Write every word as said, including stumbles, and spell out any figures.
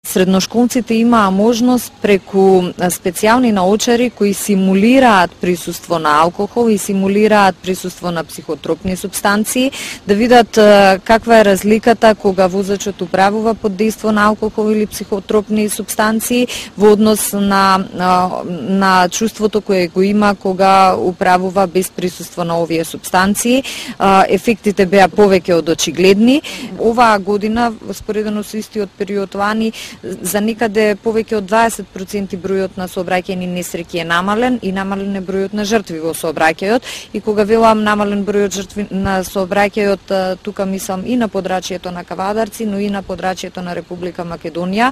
Средношколците имаа можност преку специјални научари кои симулираат присуство на алкохол и симулираат присуство на психотропни супстанции, да видат каква е разликата кога возачот управува под дејство на алкохол или психотропни супстанции во однос на, на, на чувството кое го има кога управува без присуство на овие супстанции. Ефектите беа повеќе од очигледни. Оваа година, споредено со истиот период лани, за некаде повеќе од дваесет проценти бројот на сообраќајни несреќи е намален и намален е бројот на жртви во сообраќајот. И кога велам намален бројот жртви на сообраќајот, тука мислам и на подрачјето на Кавадарци, но и на подрачјето на Република Македонија,